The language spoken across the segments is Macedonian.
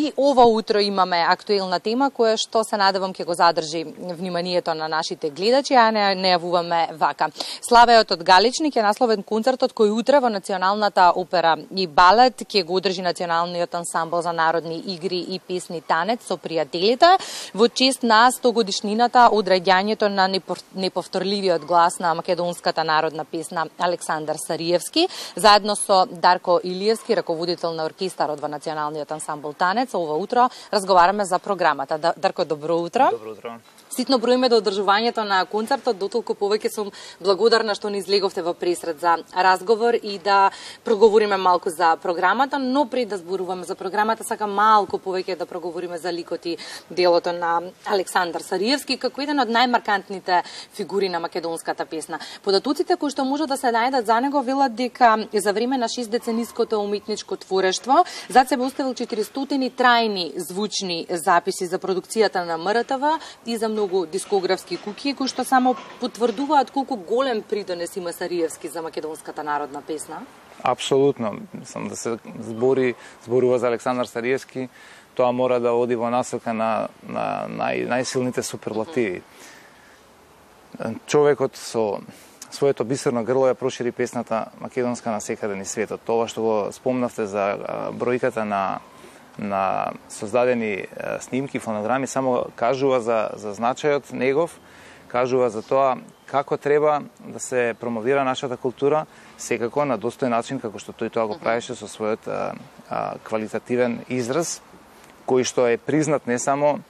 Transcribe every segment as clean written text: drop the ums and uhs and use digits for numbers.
И ова утро имаме актуелна тема која што се надевам ќе го задржи вниманието на нашите гледачи, а не јавуваме вака. Славеот од Галичник е насловен концертот кој утре во Националната опера и балет ќе го одржи Националниот ансамбл за народни игри и песни Танец со пријателите во чест на 100-годишнината од раѓањето на неповторливиот глас на македонската народна песна Александар Сариевски, заедно со Дарко Илиевски, раководител на оркестарот во Националниот ансамбл Танец. Ова утро разговараме за програмата. Дарко, добро утро. Добро утро. Ситно броиме до одржувањето на концертот, дотолку повеќе сум благодарна што ни излеговте во пресред за разговор и да проговориме малку за програмата, но пред да зборуваме за програмата, сакам малку повеќе да проговориме за ликот и делото на Александар Сариевски, како еден од најмаркантните фигури на македонската песна. Податоците кои што можат да се најдат за него велат дека за време на 6-децениското уметничко творештво зад себе оставил 400 трајни звучни записи за продукцијата на МРТВ и за многу дискографски куќи кои што само потврдуваат колку голем придонес има Сариевски за македонската народна песна. Апсолутно, сам да се зборува за Александар Сариевски, тоа мора да оди во насока на најсилните суперлативи. Човекот со своето бисерно грло ја прошири песната македонска на секаде низ светот. Тоа што го спомнавте за бројката на создадени снимки, фонограми, само кажува за значајот негов, кажува за тоа како треба да се промовира нашата култура, секако на достоен начин, како што тој тоа го правеше со својот квалитативен израз, кој што е признат не само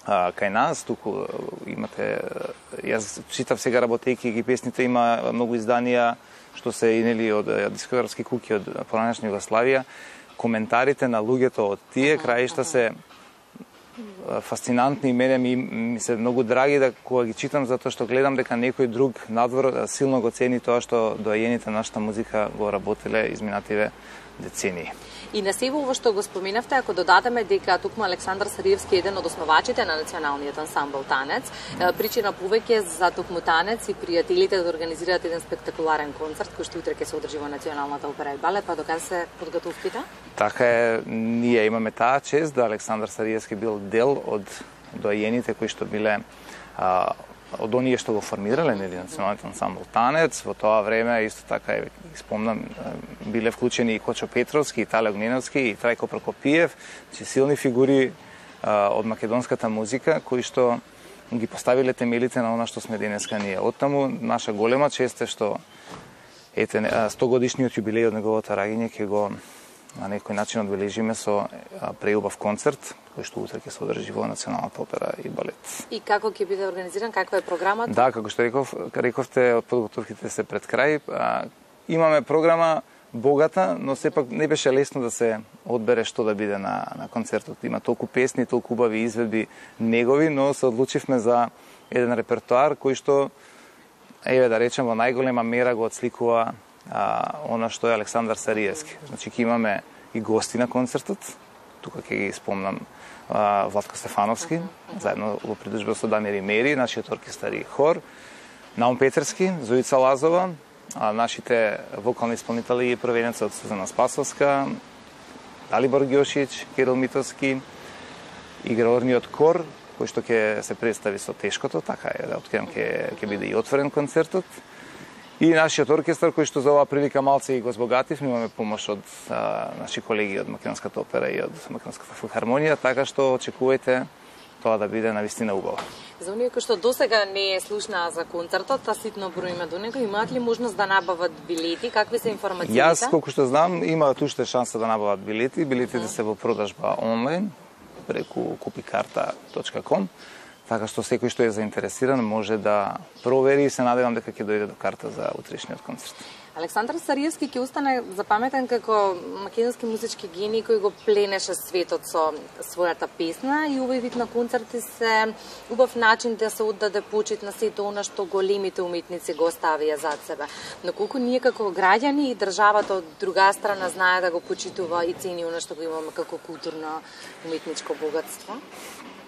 кај нас, туку имате, јас читав сега работејки ги песните, има многу изданија што се инели од дискографски куќи од поранешна Југославија. Коментарите на луѓето од тие краишта се фасцинантни и мене ми се многу драги да кога ги читам, затоа што гледам дека некој друг надвор силно го цени тоа што доајените нашата музика го работеле изминативе децении. И на сево ово што го споменавте, ако додадеме дека токму Александар Сариевски е еден од основачите на Националниот ансамбл Танец, причина повеќе за токму Танец и пријателите да организираат еден спектакуларен концерт кој што утре ќе се одржи во Националната опера и балет, па докаде се подготовките? Така е, ние имаме таа чест да Александар Сариевски бил дел од доајените кои што биле од оние што го формирале Националниот ансамбл Танец. Во тоа време исто така спомнам биле вклучени и Кочо Петровски, и Тале Огненовски, и Трајко Прокопиев, силни фигури од македонската музика кои што ги поставиле темелите на она што сме денеска ние. Оттаму наша голема чест е што 100 годишниот јубилеј од неговото раѓање ќе го на некој начин одбележиме со преубав концерт кој што утре ќе се одржи во Националната опера и балет. И како ќе биде организиран, каква е програмата? Да, како што рековте, подготовките се пред крај. Имаме програма богата, но сепак не беше лесно да се одбере што да биде на концертот. Има толку песни, толку убави изведби негови, но се одлучивме за еден репертоар кој што, еве да речем, во најголема мера го отсликува она што е Александар Сариевски. Значи ќе имаме и гости на концертот. Тука ќе ги спомнам Владко Стефановски, заедно во придружба со Дамир Мери, нашиот оркестар и хор, Наум Петерски, Зоица Лазова, нашите вокални исполнители и проведенци од Сузана Спасовска, Далибор Ѓошиć, Кирил Митовски, играорниот хор, кој што ќе се представи со Тешкото, така е, да откривам ќе биде и отворен концертот. И нашиот оркестар, кој што за оваа прилика малце и го збогатив, имаме помош од наши колеги од Македонската опера и од Македонската филхармонија, така што очекувајте тоа да биде навистина убаво. За оние кои што досега не е слушнаа за концертот, а ситно броиме до него, имаат ли можност да набават билети? Какви се информациите? Јас, колку што знам, имаат уште шанса да набават билети. Билетите се во продажба онлайн преку kupikarta.com. Така што секој што е заинтересиран може да провери и се надевам дека ќе дојде до карта за утрешниот концерт. Александар Сариевски ќе остане запаметен како македонски музички гений кој го пленеше светот со својата песна и овој вид на концерти се убав начин да се оддаде почит на сето она што големите уметници го оставија зад себе. Но колку ние како граѓани и државата од друга страна знае да го почитува и цени она што го имаме како културно уметничко богатство?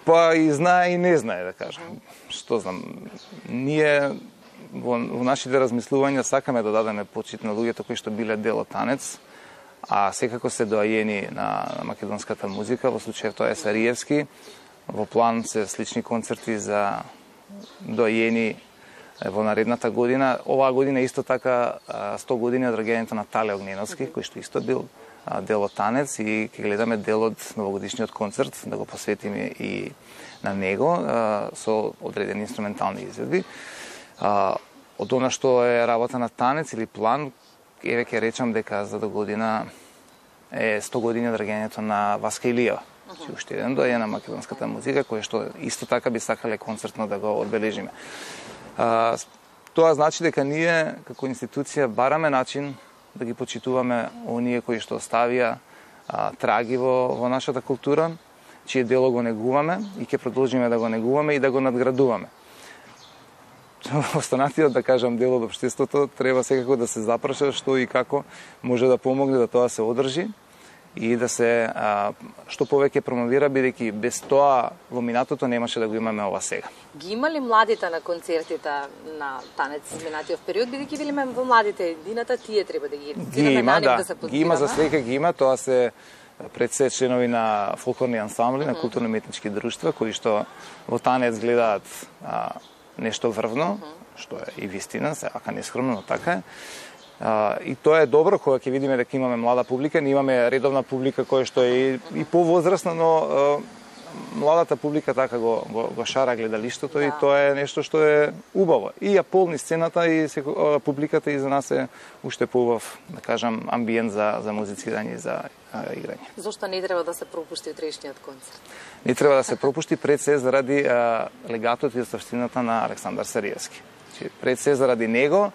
Па и знае и не знае, да кажам. Што знам, ние во нашите размислувања сакаме да дадеме почит на луѓето кои што биле дел од Танец, а секако се доајени на македонската музика, во случајов тоа е Сариевски. Во план се слични концерти за доајени во наредната година. Оваа година исто така 100 години од раѓањето на Тале Огненовски, кој што исто бил дел од Танец, и ќе гледаме дел од новогодишниот концерт, да го посветиме и на него со одредени инструментални изведби. Од она што е работа на Танец или план, еве ќе речам дека за до година е 100 години од раѓањето на Васка Илиева. Уште еден доаѓа на македонската музика, кој што исто така би сакале концертно да го одбележиме. Тоа значи дека ние како институција бараме начин да ги почитуваме оние кои што оставија траги во нашата култура, чие дело го негуваме и ќе продолжиме да го негуваме и да го надградуваме. Останатиот, да кажам, дел од општеството треба секако да се запраша што и како може да помогне да тоа се одржи и да се што повеќе промовира, бидејќи без тоа во минатото немаше да го имаме ова сега. Ги има ли младите на концертите на Танец изминатиот период, бидејќи велиме во младите едината, тие треба да ги има, да се подбираме? Ги има, за среќа ги има, тоа се пред се членови на фолклорни ансамбли, на културно-уметнички друштва, кои што во Танец гледаат нешто врвно, што е и вистина, сеака нескромно, но така е. И тоа е добро кога ќе видиме дека имаме млада публика, ние имаме редовна публика која што е и повозрасна, но младата публика така го шара гледалиштото и тоа е нешто што е убаво. И ја полни сцената и публиката и за нас е уште поубав, да кажам, амбиент за музицирање и за играње. Зошто не треба да се пропушти утрешниот концерт? Не треба да се пропушти пред се заради легатот и оставштината на Александар Сариевски. Пред се заради него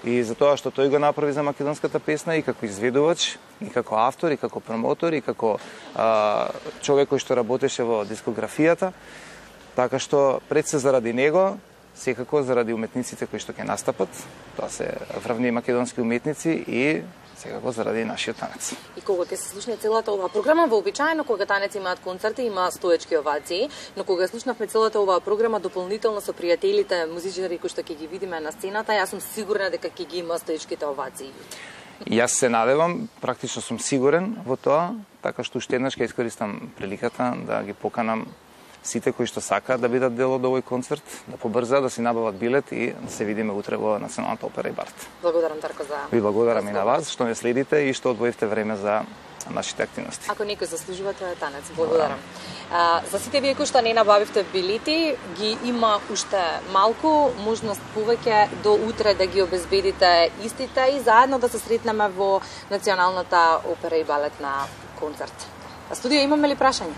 и за тоа што тој го направи за македонската песна и како изведувач, и како автор, и како промотор, и како човек кој што работеше во дискографијата. Така што пред се заради него, секако заради уметниците кои што ќе настапат, тоа се врвни македонски уметници и секако заради нашиот Танец. И кога ќе се слушне целата оваа програма, вообичаено кога Танец имаат концерти, има стоечки овации, но кога слушнавме целата оваа програма дополнително со пријателите, музичари кои што ќе ги видиме на сцената, јас сум сигурна дека ќе ги има стоечките овации. Јас се надевам, практично сум сигурен во тоа, така што уште еднаш ќе искористам приликата да ги поканам сите кои што сакаат да бидат дел од овој концерт, да побрзаат да си набават билет и да се видиме утре во Националната опера и Барт. Благодарам, Дарко, за... Ви благодарам и на вас што не следите и што одвоивте време за нашите активности. Ако некој заслужува, тоа е Танец. Благодарам. За сите вие кои што не набавивте билети, ги има уште малку можност повеќе до утре да ги обезбедите истите и заедно да се сретнеме во Националната опера и балетна концерт. А студија имаме ли прашање?